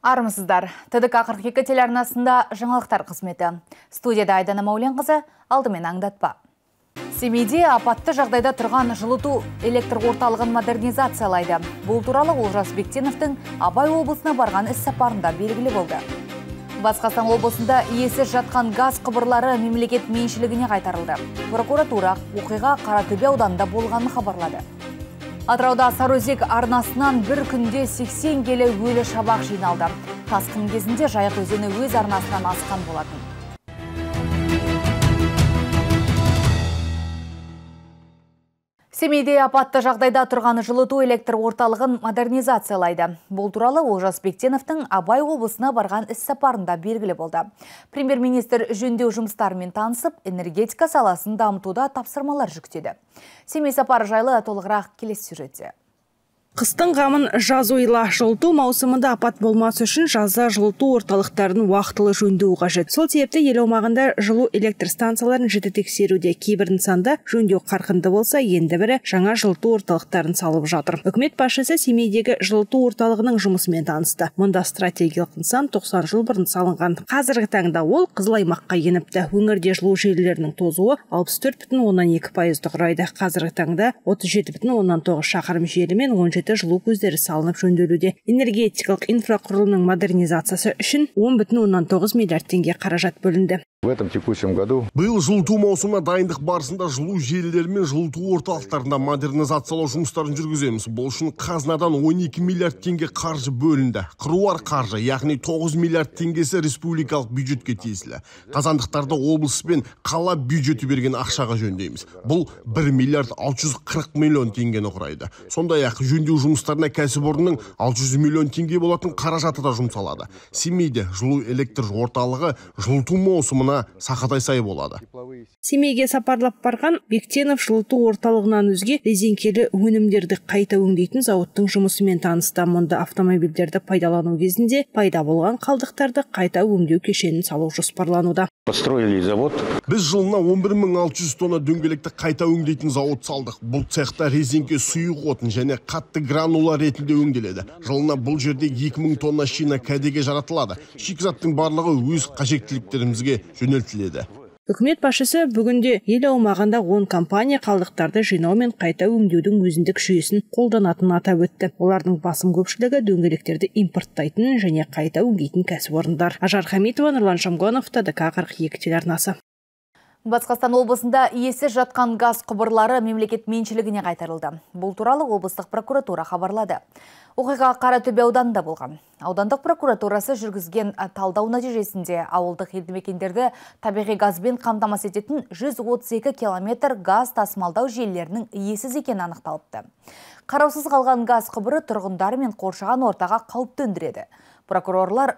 Армысыздар. ТДК 42 телеарнасында жаңалықтар қызметі. Студияда Айдана Мауленқызы, алдымен аңдатпа. Семейде апатты жағдайда тұрған жылыту электр орталығын модернизациялайды. Бұл туралы Олжас Бектеновтің Абай облысына барған іс-сапарында белгілі болды. Батыс Қазақстан облысында иесіз жатқан газ құбырлары мемлекет меншілігіне қайтарылды. Прокуратура оқиға Қаратөбе ауданында болғанын хабарлады. Атырауда Сарыөзек арнасынан бір күнде 80 келі өлі шабақ жиналды. Тасқын кезінде Жайық өзені өз арнасынан асқан болатын. Семейде апатты жағдайда тұрған жылыту электр орталығын модернизациялайды. Бұл туралы Олжас Бектеновтың Абай облысына барған іс-сапарында белгілі болды. Премьер-министр жөндеу жұмыстарымен танысып, энергетика саласын дамытуда тапсырмалар жүктеді. Семей сапары жайлы толығырақ келесі сюжетте. Қыстың ғамын жаз ойла. Жылыту маусымында апат болмасы үшін жазда жылыту орталықтарын уақытылы жөндеу қажет. Сол себепті ел аумағында жылу электр станцияларын жіті тексеруде. Кейбір нысанда жөндеу қарқынды болса, енді бірі жаңа жылыту орталықтарын салып жатыр. Үкімет басшысы Семейдегі жылыту орталығының жұмысымен танысты. Мұнда стратегиялық нысан 90 жыл бұрын салынған. Қазіргі таңда ол қызыл аймаққа еніпті. Өңірде жылу желілерінің тозуы 64,2% құрайды. Қазіргі таңда 37,9 шақырым желі мен 17 жылу көздері салынып жөнделуде. Энергетикалық инфрақұрылымның модернизациясы үшін 10,9 миллиард теңге қаражат бөлінді. В этом текущем году биыл жылыту маусымына дайындық барысында жылу желілері мен жылыту орталықтарында модернизациялау жұмыстарын жүргіземіз. Бұл үшін қазынадан 12 миллиард теңге қаржы бөлінді. Қыруар қаржы, яғни 9 миллиард теңгесі республикалық бюджетке тиесілі. Қазандықтарды облыс пен қала бюджеті берген ақшаға жөндейміз. Бұл 1 миллиард 640 миллион теңгені құрайды. Сондай-ақ жөндеу жұмыстарына кәсіпорынның 600 миллион теңге болатын қаражаты да жұмсалады. Семейде жылу электр орталығы жылыту маусымына сақадай сай болады. Семейге сапарлап барған Бектенов жылыту орталығынан өзге резеңкелі өнімдерді қайта өңдейтін зауыттың жұмысымен танысты. Мұнда автомобильдерді пайдалану кезінде пайда болған қалдықтарды қайта өңдеу кешенін салу жоспарлануда. построили завод. Біз жылына 11.600 тонна дөңгелекті қайта өңдейтін зауыт салдық. Бұл цехта резеңке сұйық отын және қатты гранула ретінде өңделеді. Жылына бұл жерде 2000 тонна шина кәдеге жаратылады. Шикізаттың барлығы өз қажеттіліктерімізге жөнелтіледі. Үкімет басшысы бүгінде ел аумағында 10 компания қалдықтарды жинау мен қайта өңдеудің өзіндік жүйесін қолданатынын атап өтті. Олардың басым көпшілігі дөңгелектерді импорттайтын және қайта өңдейтін кәсіпорындар. Ажар Хамитова, Нұрлан Шамгонов, ТДК 42 телеарнасы. Батыс Қазақстан облысында иесіз жатқан газ құбырлары мемлекет меншілігіне қайтарылды. Бұл туралы облыстық прокуратура хабарлады. Оқиға Қаратөбе ауданында болған. Аудандық прокуратурасы жүргізген талдау нәтижесінде ауылдық елді мекендерді табиғи газбен қамтамасыз ететін 132 километр газ тасымалдау желілерінің иесіз екені анықталыпты. Қараусыз қалған газ құбыры тұрғындар мен қоршаған ортаға қауіп төндіреді. Прокурорлар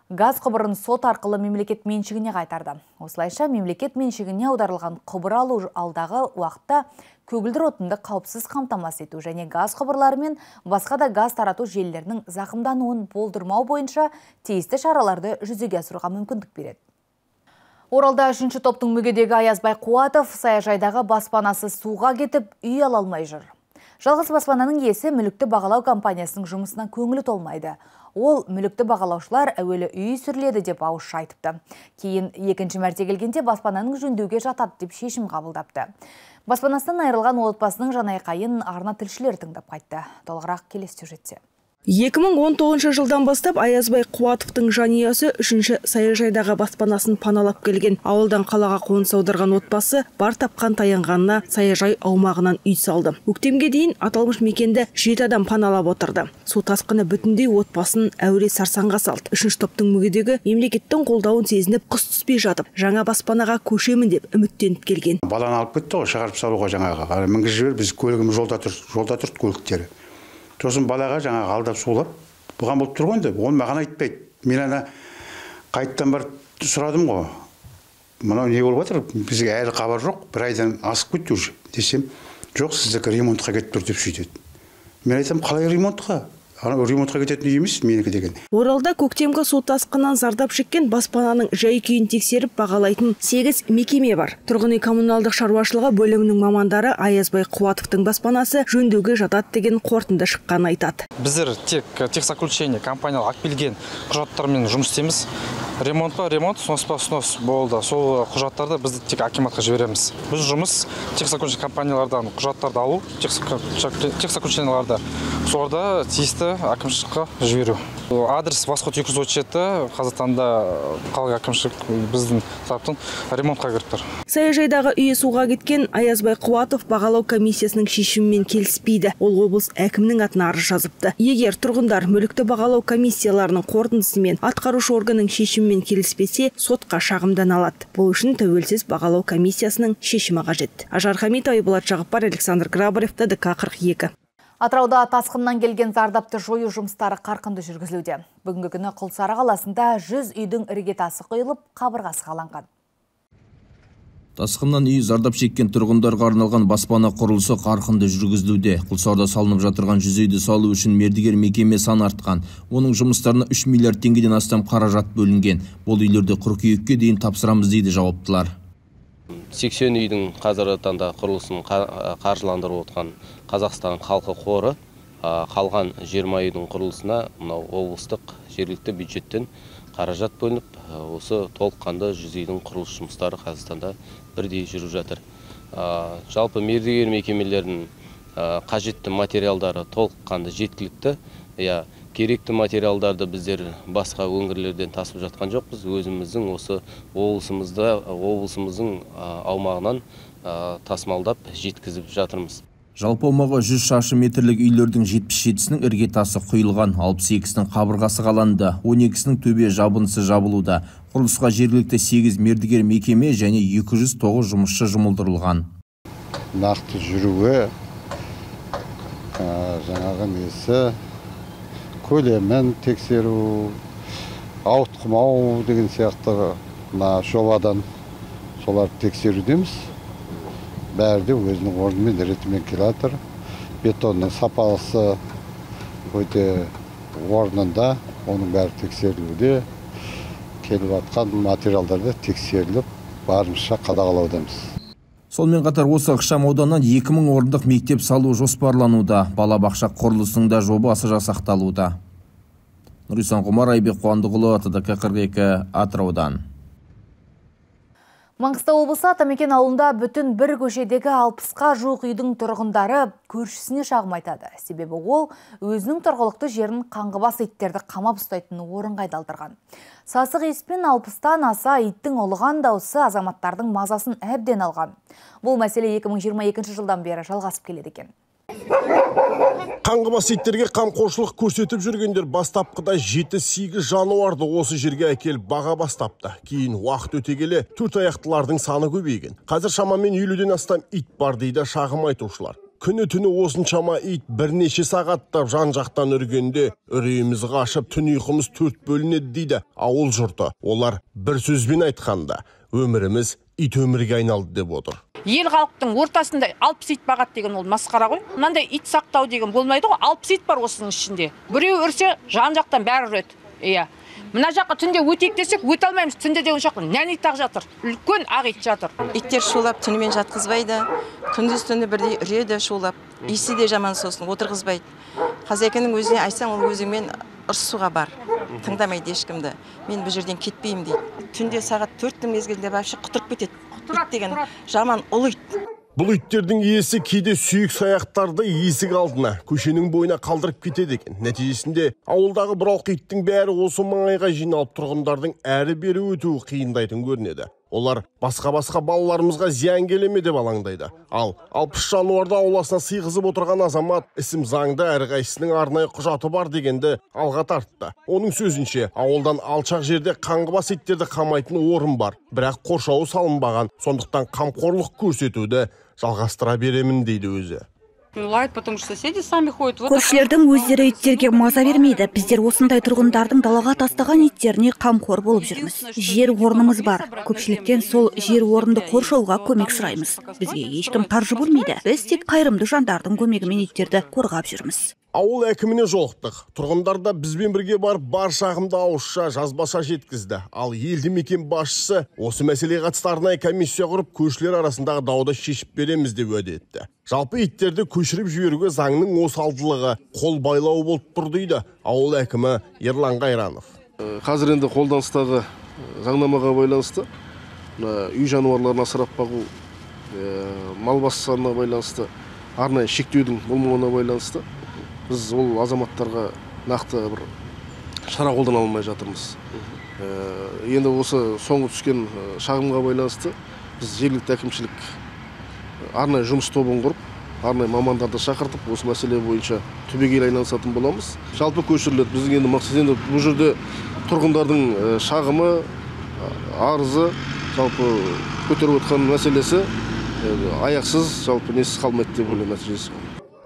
газ құбырын сот арқылы мемлекет меншігіне қайтарды. Осылайша мемлекет меншігіне аударылған құбыр алу алдағы уақытта көгілдір отынды қауіпсіз қамтамасыз ету және газ құбырлары мен басқа да газ тарату желілерінің зақымдануын болдырмау бойынша тиісті шараларды жүзеге асыруға мүмкіндік береді. Оралда 3-ші топтың мүгедегі Аязбай Қуатов саяжайдағы баспанасы суға кетіп, үй ала алмай жүр. Жалғыз баспананың иесі мүлікті бағалау компаниясының жұмысына көңілі толмайды. Ол мүлікті бағалаушылар әуелі үй сүрледі деп ауызша айтыпты. Кейін екінші мәрте келгенде баспананың жөндеуге жатады деп шешім қабылдапты. Баспанасынан айырылған отбасының жанайқайын арна тілшілер тыңдап қайтты. Толығырақ келесі сюжетте. 2019 жылдан бастап Аязбай Қуатовтың жанұясы 3-ші саяжайдағы баспанасын паналап келген. Ауылдан қалаға қоныс аударған отбасы бар тапқан таянғанына саяжай аумағынан үй салды. Көктемге дейін аталмыш мекенді 7 адам паналап отырды. Су тасқыны бүтіндей отбасын әуре сарсаңға салды. 3-ші топтың мүгедегі мемлекеттің қолдауын сезініп қыс түспей жатып, жаңа баспанаға көшемін деп үміттеніп келген. Баланы алып кетті ғой, шығарып салуға жаңаға. Мінгізіп жібер, біз көлігіміз жолда тұрды көліктері. Сосын балаға жаңағы алдап сулап, бұған болып тұрған да, оны маған айтпайды. Мен ана қайттан бар сұрадым ғой. Мынау не болып жатыр? Бізге әлі хабар жоқ, бір айдан асып кетті уже десем, жоқ, сіздікі ремонтқа кетіп тұр деп сөйтеді. Мен айтам, қалай ремонтқа? ремонтқа кететін үй емес менікі деген. Оралда көктемгі су тасқынынан зардап шеккен баспананың жай-күйін тексеріп бағалайтын 8 мекеме бар. Тұрғын үй коммуналдық шаруашылығы бөлімінің мамандары Аязбай Қуатовтың баспанасы жөндеуге жатады деген қорытынды шыққан айтады. Біздер тек техзаключение компаниялық акпелген құжаттармен жұмыс істейміз. Ремонт па ремонт, снос па снос болды. Сол құжаттарды біз тек акиматқа жібереміз. Біз жұмыс техзаключение компаниялардан құжаттарды алу, техзаключенияларды соларда тиісті әкімшілікке жіберу. Адрес Восход 237, Қазақстанда қалалық әкімшілік біздің тараптан ремонтқа кіріп тұр. Саяжайдағы үйі суға кеткен Аязбай Қуатов бағалау комиссиясының шешімімен келіспейді. Ол облыс әкімнің атына арыз жазыпты. Егер тұрғындар мүлікті бағалау комиссияларының қорытындысымен атқарушы органның шешімімен келіспесе, сотқа шағымдан алады. Бұл үшін тәуелсіз бағалау комиссиясының шешімі қажет. Ажар Хамитова, Айболат Жағыппар, Александр Грабарев, ТДК 42. Атырауда тасқыннан келген зардапты жою жұмыстары қарқынды жүргізілуде. Бүгінгі күні Құлсары қаласында 100 үйдің іргетасы құйылып, қабырғасы қаланған. Тасқыннан үй зардап шеккен тұрғындарға арналған баспана құрылысы қарқынды жүргізілуде. Құлсарда салынып жатырған 100 үйді салу үшін мердігер мекеме саны артқан. Оның жұмыстарына 3 миллиард теңгеден астам қаражат бөлінген. Бұл үйлерді қыркүйекке дейін тапсырамыз дейді жауаптылар. 80 үйдің қазіргі таңда құрылысын қаржыландырып отқан Қазақстан халқы қоры қалған 20 үйдің құрылысына мынау облыстық жергілікті бюджеттен қаражат бөлініп, осы толыққанды 100 үйдің құрылыс жұмыстары Қазақстанда бірдей жүріп жатыр. Жалпы мердігер мекемелердің қажетті материалдары толыққанды жеткілікті. Керекті материалдарды біздер басқа өңірлерден тасып жатқан жоқпыз. Өзіміздің осы облысымыздың аумағынан тасымалдап жеткізіп жатырмыз. Жалпы аумағы 100 шаршы метрлік үйлердің 77-сінің іргетасы құйылған, 62-сінің қабырғасы қаланды, 12-сінің төбе жабындысы жабылуда. Құрылысқа жергілікті 8 мердігер мекеме және 209 жұмысшы жұмылдырылған. Нақты жүруге жаңағы несі көлемін тексеру, ауытқымау деген сияқты жобадан соларды тексерудеміз. Бәрі де өзінің орнымен ретімен келатыр. Бетонның сапасы өте орнында, оның бәрі тексерілуде. Келіп атқан материалдарды тексеріліп, барынша қадағалаудамыз. Сонымен қатар осы ықшам ауданнан 2000 орындық мектеп салу жоспарлануда. Балабақша құрылысының да жобасы жасақталуда. Нұрислам Құмар, Айбек Қуандығұлы, ТДК 42, Атыраудан. Маңғыстау облысы Атамекен ауылында бүтін бір көшедегі 60-қа жуық үйдің тұрғындары көршісіне шағым айтады. Себебі ол өзінің тұрғылықты жерін қаңғыбас иттерді қамап ұстайтын орынға айдалдырған. Сасық иіспен 60-тан аса иттің ұлыған дауысы азаматтардың мазасын әбден алған. Бұл мәселе 2022 жылдан бері жалғасып келеді екен. Қаңғыбас иттерге қамқоршылық көрсетіп жүргендер бастапқыда 7-8 жануарды осы жерге әкеліп баға бастапты. Кейін уақыт өте келе төрт аяқтылардың саны көбейген. Қазір шамамен 50-ден астам ит бар дейді шағым айтушылар. Күні-түні осыншама ит бірнеше сағаттап жан-жақтан үргенде үрейіміз қашып, түн ұйқымыз төрт бөлінеді дейді ауыл жұрты. Олар бір сөзбен айтқанда, өміріміз ит өмірге айналды деп отыр. Ел халықтың ортасында 60 ит бағат деген ол масқара ғой. Мынандай ит сақтау деген болмайды ғой. 60 ит бар осының ішінде. Біреу үрсе, жан-жақтан бәрі үреді. Иә. Мына жаққа түнде өтейік десек, өте алмаймыз. Түнде деген жаққа нәнит-ақ жатыр. Үлкен ақ ит жатыр. Иттер шулап түнімен жатқызбайды. Күндіз-түні бірдей үреді шулап. Иісі де жаман сосын отырғызбайды. Хозяйканың өзіне айтсаң, ол өзіңмен ұрсуға бар. Тыңдамайды ешкімді. Мен бұл жерден кетпеймін дейді. Түнде сағат 4-тің мезгілінде вообще құтырып кетеді. Ит деген жаман ұлы ит. Бұл иттердің иесі кейде сүйек саяқтарды есік алдына, көшенің бойына қалдырып кетеді екен. Нәтижесінде ауылдағы бұралқы иттің бәрі осы маңайға жиналып тұрғындардың әрі бері өтуі қиындайтын көрінеді. Олар басқа балаларымызға зиян келеме деп алаңдайды. Ал 60 жануарды ауласына сыйғызып отырған азамат ісім заңда әрқайсының арнайы құжаты бар дегенді алға тартты. Оның сөзінше, ауылдан алшақ жерде қаңғыбас иттерді қамайтын орын бар, бірақ қоршауы салынбаған, сондықтан қамқорлық көрсетуді жалғастыра беремін дейді өзі. Көршілердің өздері иттерге маза бермейді. Біздер осындай тұрғындардың далаға тастаған иттеріне қамқор болып жүрміз. Жер орнымыз бар. Көпшіліктен сол жер орынды қоршауға көмек сұраймыз. Бізге ешкім қаржы бөлмейді. Біз тек қайырымды жандардың көмегімен иттерді қорғап жүрміз. Ауыл әкіміне жолықтық. Тұрғындар да бізбен бірге барып бар шағымды ауызша жазбаша жеткізді. Ал елді мекен басшысы осы мәселеге қатысты арнайы комиссия құрып, көшелер арасындағы дауды шешіп береміз деп уәде етті. Жалпы иттерді көшіріп жіберуге заңның осалдылығы қол байлау болып тұр дейді ауыл әкімі Ерлан Қайранов. Қазір енді қолданыстағы заңнамаға байланысты үй жануарларын асырап бағу, мал басы санына байланысты, арнайы шектеудің болмауына байланысты біз ол азаматтарға нақты бір шара қолдана алмай жатырмыз. Енді осы соңғы түскен шағымға байланысты біз жергілікті әкімшілік арнайы жұмыс тобын құрып, арнайы мамандарды шақыртып, осы мәселе бойынша түбегейлі айналысатын боламыз. Жалпы көшіріледі. Біздің енді мақсат енді бұл жерде тұрғындардың шағымы, арызы, жалпы көтеріп отқан мәселесі аяқсыз, жалпы несіз қалмайды деп ойлаймын нәтижесі.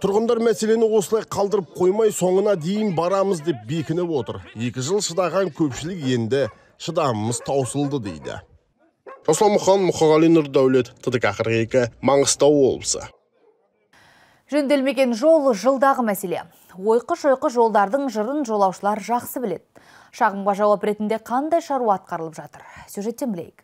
Тұрғындар мәселені осылай қалдырып қоймай, соңына дейін барамыз деп бекініп отыр. 2 жыл шыдаған көпшілік енді шыдамымыз таусылды дейді. Руслан Мұқан, Мұқағали Нұрдәулет, ТДК 42, Маңғыстау облысы. Жөнделмеген жол жылдағы мәселе. Ойқы-шойқы жолдардың жырын жолаушылар жақсы біледі. Шағымға жауап ретінде қандай шаруа атқарылып жатыр? Сюжеттен білейік.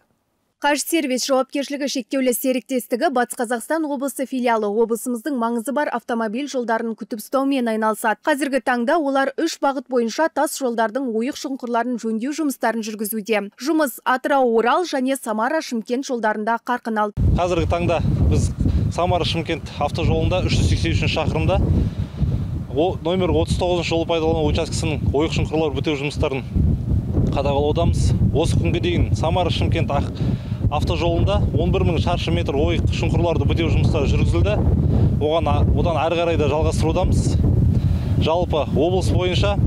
Қажсервис жауапкершілігі шектеулі серіктестігі Батыс Қазақстан облысы филиалы облысымыздың маңызы бар автомобиль жолдарын күтіп ұстаумен айналысады. Қазіргі таңда олар 3 бағыт бойынша тас жолдардың ойық шұңқырларын жөндеу жұмыстарын жүргізуде. Жұмыс Атырау-Орал және Самара-Шымкент жолдарында қарқын алды. Қазіргі таңда біз Самара-Шымкент автожолында 383 шақырымда номер 39 жол пайдалану учаскесінің ойық шұңқырлар бітеу жұмыстарын қадағалаудамыз. Осы күнге дейін Самара-Шымкент автожолында 11.000 шаршы метр ойық шұңқырларды бітеу жұмыстары жүргізілді. Одан әрі қарай да жалғастырудамыз. Жалпы облыс бойынша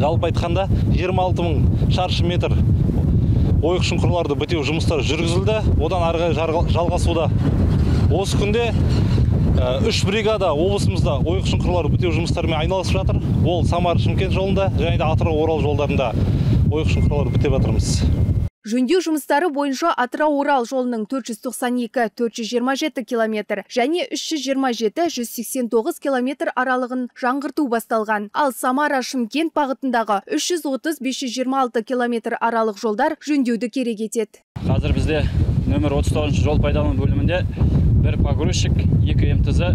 жалпы айтқанда 26.000 шаршы метр ойық шұңқырларды бітеу жұмыстары жүргізілді. Одан әрі қарай жалғасуда. Осы күнде 3 бригада облысымызда ойық шұңқырлары бітеу жұмыстарымен айналысып жатыр. Ол Самара-Шымкент жолында және де Атырау-Орал жолдарында ойық шұңқырлары бітеп жатырмыз. Жөндеу жұмыстары бойынша Атырау-Орал жолының 492-427 километр және 327-189 километр аралығын жаңғырту басталған. Ал Самара-Шымкент бағытындағы 330-526 километр аралық жолдар жөндеуді керек етеді. Қазір бізде нөмір 39 жол пайдалану бөлімінде 1 погрузчик, 2 МТЗ,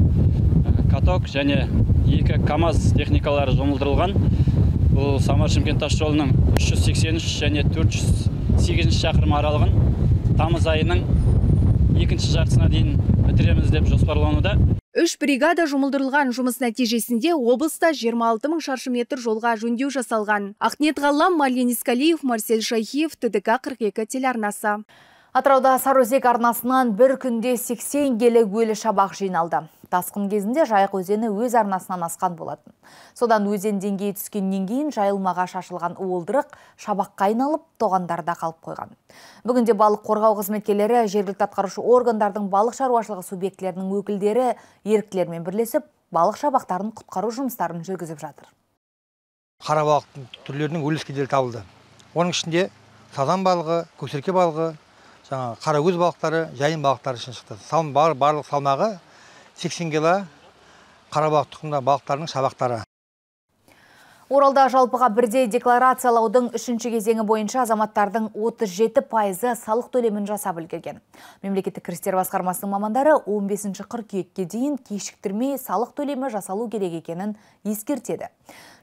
каток және 2 КАМАЗ техникалары жұмылдырылған. Бұл Самара-Шымкент тас жолының 383 және 408 шақырым аралығын тамыз айының 2-ші жартысына дейін бітіреміз деп жоспарлануда. 3 бригада жұмылдырылған жұмыс нәтижесінде облыста 26.000 шаршы метр жолға жөндеу жасалған. Ақниет Ғаллам, Мален Искалиев, Марсель Шайхиев, ТДК 42 телеарнасы. Атырауда Сарыөзек арнасынан бір күнде 80 келі өлі шабақ жиналды. Тасқын кезінде Жайық өзені өз арнасынан асқан болатын. Содан өзен деңгейі түскеннен кейін жайылмаға шашылған уылдырық шабаққа айналып, тоғандарда қалып қойған. Бүгінде балық қорғау қызметкерлері, жергілікті атқарушы органдардың балық шаруашылығы субъектілерінің өкілдері еріктілермен бірлесіп, балық шабақтарын құтқару жұмыстарын жүргізіп жатыр. Қара балықтың түрлерінің өліскедері табылды. Оның ішінде сазан балығы, көксерке балығы, қаракөз балықтары, жайын балықтары үшін шықты. Барлық салмағы 80 кило қара балық тұқымда балықтарының шабақтары. Оралда жалпыға бірдей декларациялаудың 3-ші кезеңі бойынша азаматтардың 37% салық төлемін жасап үлгерген. Мемлекеттік кірістер басқармасының мамандары 15 қыркүйекке дейін кешіктірмей салық төлемі жасалу керек екенін ескертеді.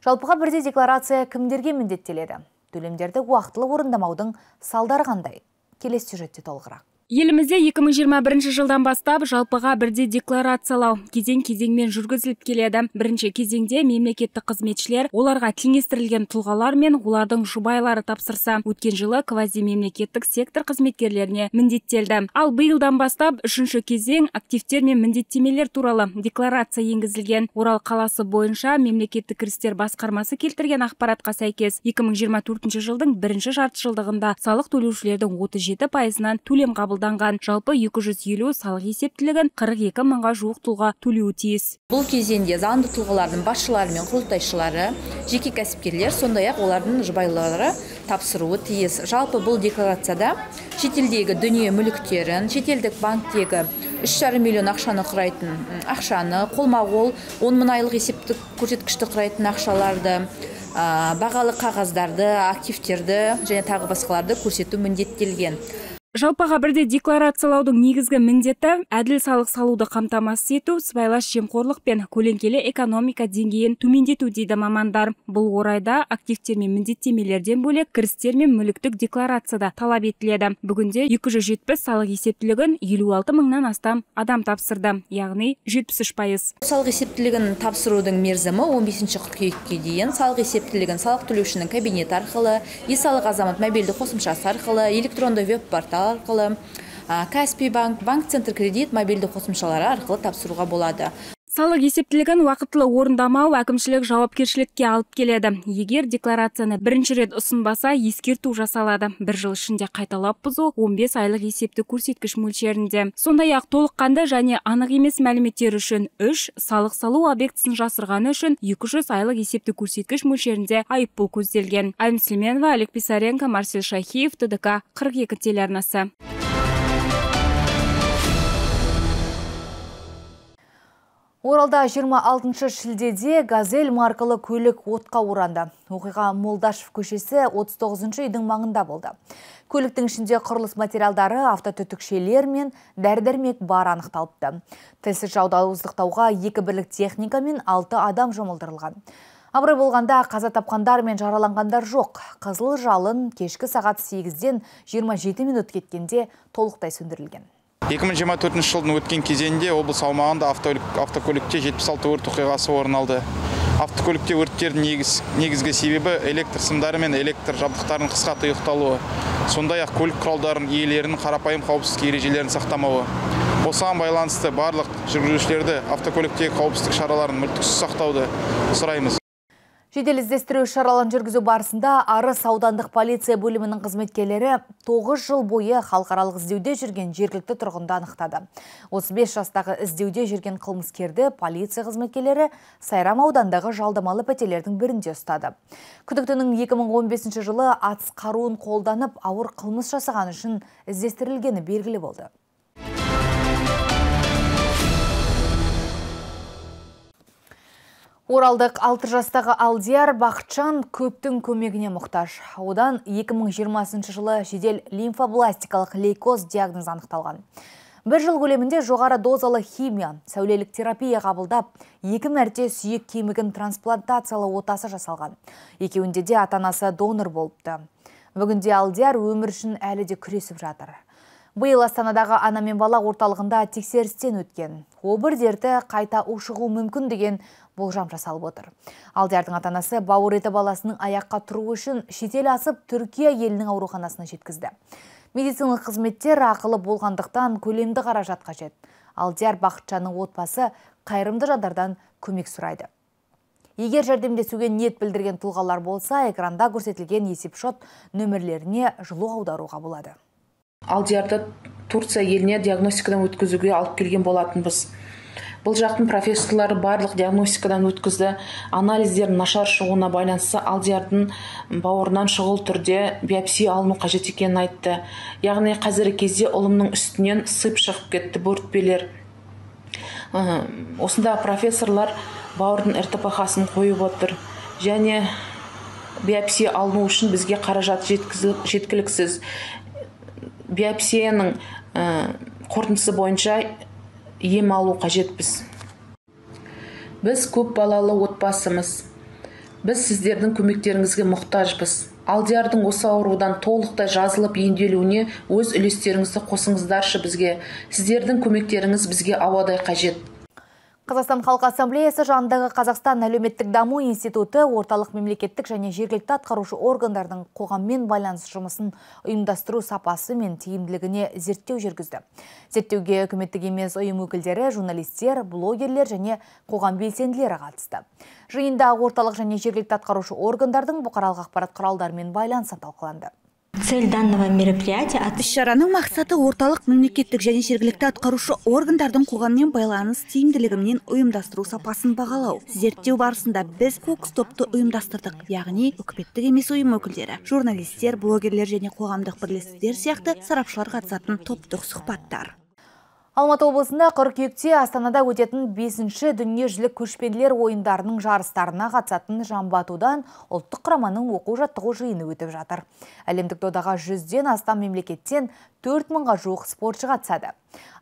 Жалпыға бірдей декларация кімдерге міндеттеледі? Төлемдерді уақытылы орындамаудың салдары қандай? Келесі сюжетте толығырақ. Елімізде 2021 жылдан бастап жалпыға бірдей декларациялау кезең-кезеңмен жүргізіліп келеді. Бірінші кезеңде мемлекеттік қызметшілер оларға теңестірілген тұлғалар мен олардың жұбайлары тапсырса, өткен жылы квазимемлекеттік сектор қызметкерлеріне міндеттелді. Ал биылдан бастап үшінші кезең активтер мен міндеттемелер туралы декларация енгізілген. Орал қаласы бойынша мемлекеттік кірістер басқармасы келтірген ақпаратқа сәйкес 2024 жылдың бірінші жартыжылдығында салық төлеушілердің 37%-нан төлем қабылданған. Жалпы 250 салық есептілігін 42 мыңға жуық тұлға төлеуі тиіс. Бұл кезеңде заңды тұлғалардың басшылары мен құрылтайшылары, жеке кәсіпкерлер, сондай-ақ олардың жұбайлары тапсыруы тиіс. Жалпы бұл декларацияда шетелдегі дүние мүліктерін, шетелдік банктегі 3,5 миллион ақшаны құрайтын ақшаны, қолма-қол 10 мың айлық есептік көрсеткішті құрайтын ақшаларды, бағалы қағаздарды, активтерді және тағы басқаларды көрсету міндеттелген. Жалпыға бірде декларациялаудың негізгі міндеті әділ салық салуды қамтамасыз ету, сыбайлас жемқорлық пен көлеңкелі экономика деңгейін төмендету дейді мамандар. Бұл орайда активтер мен міндеттемелерден бөлек кірістер мен мүліктік декларацияда талап етіледі. Бүгінде 270 салық есептілігін 56 мыңнан астам адам тапсырды, яғни 73%. Салық есептілігін тапсырудың мерзімі 15 қыркүйекке дейін. Салық есептілігін салық төлеушінің кабинеті арқылы, e-салық азамат мобильді қосымшасы арқылы, электронды веб-портал арқылы, Каспий банк, банк-центр кредит мобильді қосымшалары арқылы тапсыруға болады. Салық есептілігін уақытылы орындамау әкімшілік жауапкершілікке алып келеді. Егер декларацияны бірінші рет ұсынбаса, ескерту жасалады. Бір жыл ішінде қайталап бұзу 15 айлық есепті көрсеткіш мөлшерінде. Сондай-ақ толыққанды және анық емес мәліметтер үшін 3, салық салу объектісін жасырғаны үшін 200 айлық есепті көрсеткіш мөлшерінде айыппұл көзделген. Айым Сүлейменова, Олег Писаренко, Марсель Шахиев, ТДК 42 телеарнасы. Оралда 26 шілдеде «Газель» маркалы көлік отқа оранды. Оқиға Молдашев көшесі 39 үйдің маңында болды. Көліктің ішінде құрылыс материалдары, автотүтікшелер мен дәрі-дәрмек бар анықталыпты. Тілсіз жауды ауыздықтауға 2 бірлік техника мен 6 адам жұмылдырылған. Абырой болғанда қаза тапқандар мен жараланғандар жоқ. Қызыл жалын кешкі сағат 8-ден 27 минут кеткенде толықтай сөндірілген. 2024 жылдың өткен кезеңінде облыс аумағында автокөлікте 76 өрт оқиғасы орын алды. Автокөлікте өрттердің негізгі себебі электр сымдары мен электр жабдықтарының қысқа тұйықталуы. Сондай-ақ көлік құралдарының иелерінің қарапайым қауіпсіздік ережелерін сақтамауы. Осыған байланысты барлық жүргізушілерді автокөліктегі қауіпсіздік шараларын мүлтіксіз сақтауды сұраймыз. Жедел іздестіру шараларын жүргізу барысында Арыс аудандық полиция бөлімінің қызметкерлері 9 жыл бойы халықаралық іздеуде жүрген жергілікті тұрғынды анықтады. 35 жастағы іздеуде жүрген қылмыскерді полиция қызметкерлері Сайрам аудандағы жалдамалы пәтерлердің бірінде ұстады. Күдіктінің 2015 жылы атыс қаруын қолданып ауыр қылмыс жасаған үшін іздестірілгені белгілі болды. Оралдық 6 жастағы Алдияр Бақытжан көптің көмегіне мұқтаж. Одан 2020 жылы жедел лимфобластикалық лейкоз диагноз анықталған. Бір жыл көлемінде жоғары дозалы химия, сәулелік терапия қабылдап, 2 мәрте сүйек кемігін трансплантациялы отасы жасалған. Екеуінде де ата-анасы донор болыпты. Бүгінде Алдияр өмір үшін әлі де күресіп жатыр. Биыл Астанадағы ана мен бала орталығында тексерістен өткен. Обыр дерті қайта ушығу мүмкін деген болжам жасалып отыр. Алдиярдың ата-анасы бауыр еті баласының аяққа тұру үшін шетел асып Түркия елінің ауруханасына жеткізді. Медициналық қызметтер ақылы болғандықтан көлемді қаражат қажет. Алдияр Бақытжанның отбасы қайырымды жандардан көмек сұрайды. Егер жәрдемдесуге ниет білдірген тұлғалар болса, экранда көрсетілген есепшот нөмірлеріне жылу аударуға болады. Алдиярды Турция еліне диагностикадан өткізуге алып келген болатынбыз. Бұл жақтың профессорлары барлық диагностикадан өткізді. Анализдердің нашар шығуына байланысты Алдиярдың бауырынан шұғыл түрде биопсия алыну қажет екенін айтты. Яғни қазіргі кезде ұлымның үстінен сып шығып кетті бөртпелер. Осында профессорлар бауырдың РТПХ-сын қойып отыр. Және биопсия алыну үшін бізге қаражат жеткіліксіз. Биопсияның қорытындысы бойынша ем алу қажетпіз. Біз көп балалы отбасымыз. Біз сіздердің көмектеріңізге мұқтажбыз. Алдиярдың осы аурудан толықтай жазылып емделуіне өз үлестеріңізді қосыңыздаршы бізге. Сіздердің көмектеріңіз бізге ауадай қажет. Қазақстан Халқы Ассамблеясы жанындағы Қазақстан әлеуметтік даму институты орталық мемлекеттік және жергілікті атқарушы органдардың қоғаммен байланыс жұмысын ұйымдастыру сапасы мен тиімділігіне зерттеу жүргізді. Зерттеуге үкіметтік емес ұйым өкілдері, журналистер, блогерлер және қоғам белсенділері қатысты. Жиында орталық және жергілікті атқарушы органдардың бұқаралық ақпарат құралдарымен байланысы талқыланды. Цель данного мероприятия іс-шараның мақсаты орталық мемлекеттік және жергілікті атқарушы органдардың қоғаммен байланыс тиімділігімен ұйымдастыру сапасын бағалау. Зерттеу барысында біз фокус-топты ұйымдастырдық, яғни үкіметтік емес ұйым өкілдері, журналистер, блогерлер және қоғамдық бірлестіктер сияқты сарапшылар қатысатын топтық сұхбаттар. Алматы облысында қыркүйекте Астанада өтетін 5-ші дүниежүзілік көшпенділер ойындарының жарыстарына қатысатын жамбы-атудан ұлттық құраманың оқу-жаттығу жиыны өтіп жатыр. Әлемдік додаға 100-ден астам мемлекеттен 4000-ға жуық спортшы қатысады.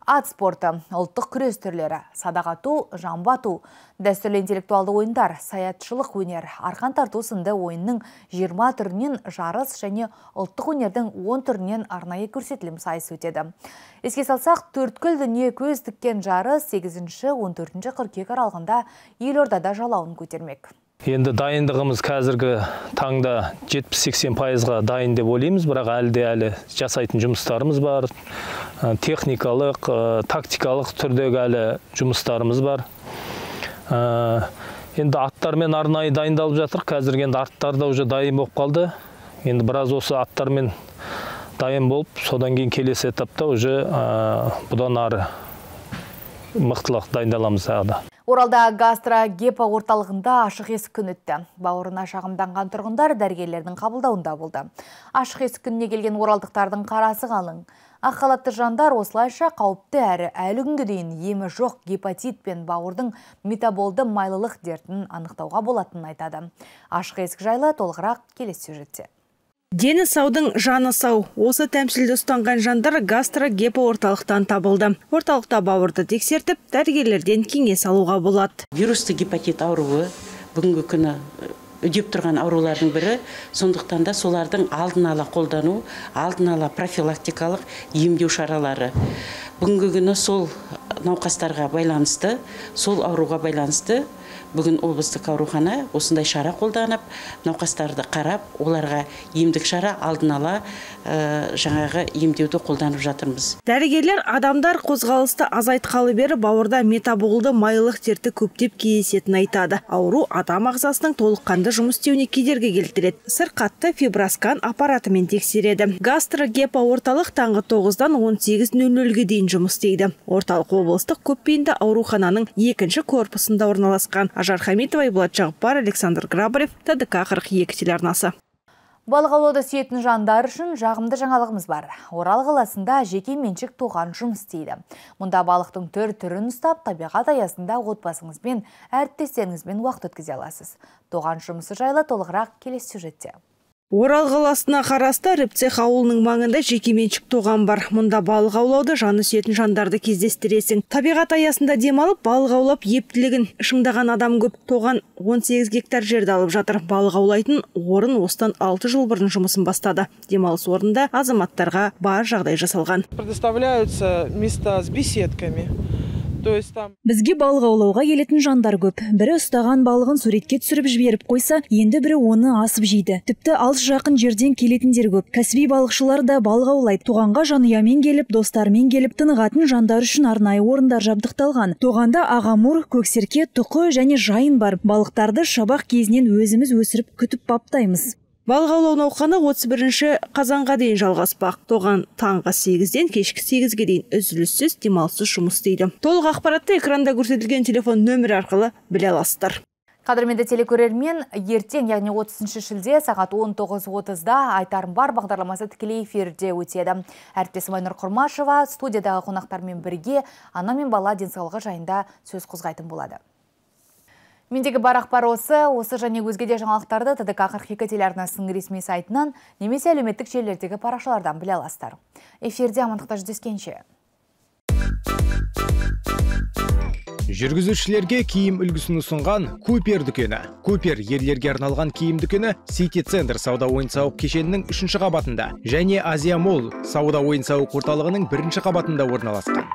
Ат спорты, ұлттық күрес түрлері, садақ ату, жамбы ату, дәстүрлі интеллектуалды ойындар, саятшылық өнер, арқан тарту сынды ойынның 20 түрінен жарыс және ұлттық өнердің 10 түрінен арнайы көрсетілім сайыс өтеді. Еске салсақ, төрткүл дүние көз тіккен жарыс 8-14 қыркүйек аралығында Елордада жалауын көтермек. Енді дайындығымыз қазіргі таңда 70-80%-ға дайын деп ойлаймыз, бірақ әлі жасайтын жұмыстарымыз бар. Техникалық, тактикалық түрдегі әлі жұмыстарымыз бар. Енді аттармен арнайы дайындалып жатыр. Қазіргі енді аттар да уже дайын болып қалды. Енді біраз осы аттармен дайын болып, содан кейін келесі этапта уже бұдан ары мықтылық дайындаламыз ағыда. Оралда гастро-гепа орталығында ашық есік күн өтті. Бауырына шағымданған тұрғындар дәрігерлердің қабылдауында болды. Ашық есік күніне келген оралдықтардың қарасы қалың. Ақ халатты жандар осылайша қауіпті әрі әлі күнге дейін емі жоқ гепатит пен бауырдың метаболды майлылық дертін анықтауға болатынын айтады. Ашық есік жайлы толығырақ келесі сюжетте. Дені саудың жаны сау. Осы тәмсілді ұстанған жандар гастро-гепа орталықтан табылды. Орталықта бауырды тексертіп, дәрігерлерден кеңес алуға болады. Вирусты гепатит ауруы бүгінгі күні үдеп тұрған аурулардың бірі, сондықтан да солардың алдын ала қолдану, алдын ала профилактикалық емдеу шаралары. Бүгінгі күні сол науқастарға байланысты, сол ауруға байланысты бүгін облыстық аурухана осындай шара қолданып, науқастарды қарап, оларға емдік шара алдын ала жаңағы емдеуді қолданып жатырмыз. Дәрігерлер адамдар қозғалысты азайтқалы бері бауырда метаболды майлылық дерті көптеп кездесетінін айтады. Ауру адам ағзасының толыққанды жұмыс істеуіне кедергі келтіреді. Сырқатты фиброскан аппаратымен тексереді. Гастро-гепа орталық таңғы 9-дан 18:00-ге дейін жұмыс істейді. Орталық облыстық көпбейінді аурухананың 2-ші корпусында орналасқан. Ажар Хамитова, Айболат Жағыпар, Александр Грабарев, ТДК 42 телеарнасы. Балық аулауды сүйетін жандар үшін жағымды жаңалығымыз бар. Орал қаласында жеке меншік тоған жұмыс істейді. Мұнда балықтың түрін ұстап, табиғат аясында отбасыңызбен, әріптестеріңізбен уақыт өткізе аласыз. Тоған жұмысы жайлы толығырақ келесі сюжетте. Орал қаласына қарасты Рыбцех ауылының маңында жекеменшік тоған бар. Мұнда балық аулауды жаны сүйетін жандарды кездестіресің. Табиғат аясында демалып, балық аулап ептілігін шыңдаған адам көп. Тоған 18 гектар жерді алып жатыр. Балық аулайтын орын осыдан 6 жыл бұрын жұмысын бастады. Демалыс орнында азаматтарға бар жағдай жасалған. Предоставляются места с беседками. Бізге балық аулауға келетін жандар көп. Бірі ұстаған балығын суретке түсіріп жіберіп қойса, енді бірі оны асып жейді. Тіпті алыс жақын жерден келетіндер көп. Кәсіби балықшылар да балық аулайды. Тоғанға жанұямен келіп, достармен келіп, тынығатын жандар үшін арнайы орындар жабдықталған. Тоғанда ағамур, көксерке, тұқы және жайын бар. Балықтарды шабақ кезінен өзіміз өсіріп күтіп баптаймыз. Балық аулау науқаны 31 қазанға дейін жалғаспақ. Тоған таңғы 8-ден кешкі 8-ге дейін үзіліссіз демалыссыз жұмыс істейді. Толық ақпаратты экранда көрсетілген телефон нөмірі арқылы біле аласыздар. Қадірменді телекөрермен, ертең, яғни 30 шілде сағат 19:30-да Айтарым бар бағдарламасы тікелей эфирде өтеді. Әріптесім Айнұр Құрмашева студиядағы қонақтармен бірге ана мен бала денсаулығы жайында сөз қозғайтын болады. Мендегі бар ақпар осы және өзге де жаңалықтарды ТДК 42 телеарнасының ресми сайтынан немесе әлеуметтік желілердегі парақшалардан біле аласыздар. Эфирде амандықта жүздескенше. Жүргізушілерге киім үлгісін ұсынған Купер дүкені. Купер ерлерге арналған киім дүкені Сити Центр сауда ойын-сауық кешенінің 3-ші қабатында және Азия Молл сауда ойын-сауық орталығының 1-ші қабатында орналасқан.